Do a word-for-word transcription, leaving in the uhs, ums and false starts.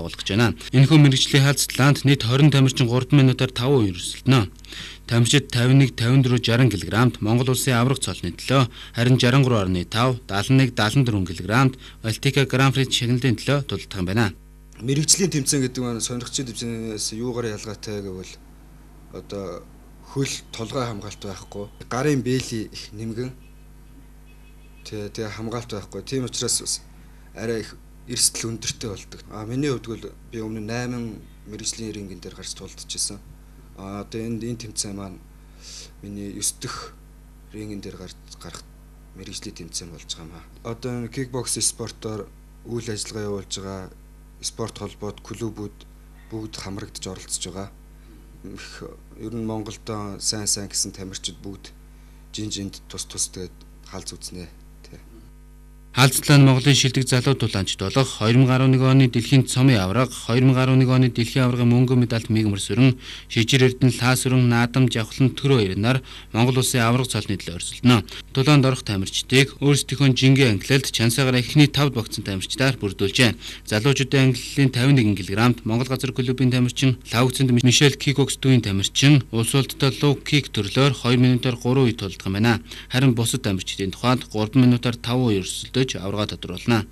тоглож байна. Энэхүү мэргэжлийн хаалцлаанд нийт хорин тамирчин гурван минутаар таван үеэр өрсөлдөнө. Тамирчид тавин нэг тавин дөрвөн шарсан кг Монгол улсын аврах цолны төлөө, харин шарсан гурван орны тав даалан нэг даалан дөрвөн кг Балтика Гран-при шагналын төлөө тулдах юм байна. Мэргэжлийн тэмцээн гэдэг нь сонирхчийн тэмцээнээс юугаар ялгаатай гэвэл одоо хөл толгой хамгаалт байхгүй, гарын бэйли их нэмгэн тэгээ хамгаалт байхгүй. Тийм учраас арай их эрсдэл өндөртэй болдог. А миний хувьд бол би өмнө найман мэргэжлийн рингэн дээр гарч тулдчихсан. А одоо энэ энэ тэмцээн маань миний девь дахь рингэн дээр гарч гарах мэргэжлийн тэмцээн болж байгаа юм аа. Одоо энэ кикбокс спортоор үйл ажиллагаа явуулж байгаа спорт холбоод клубүүд бүгд хамрагдаж оролцож байгаа. Ер нь Монголдо сайн сайн гэсэн тамирчид бүгд жинжинд тус тус тэгээд хаалц үзнэ. Хаалцлаа нь Монголын шилдэг залуу тулаанчид болох две тысячи одиннадцать оны дэлхийн цомын авраг, две тысячи одиннадцать оны дэлхийн аврагын мөнгөн медальт Мигмар Сүрэн, Шижир Эрдэнэ Лаа Сүрэн, Наадам Жавхлан Төрөө хоёроор Монгол улсын авраг цолны төлөө өрсөлдөнө. Тулаанд орох тамирчдыг өөрсдийнхөө жингийн ангилалд чансаагаар эхний тавд багцсан тамирчдаар бүрдүүлжээ. Залуучуудын ангиллалын тавин нэг кг Монгол газар клубын тамирчин Лавгцэнд Мишель Кикокс дүүийн тамирчин улс улдтай луг кик төрлөөр two минутаар three үе тулдах юм байна. Харин бусад тамирчдын тухайд three минутаар five үе өрсөлдөж аврагаа тодруулна.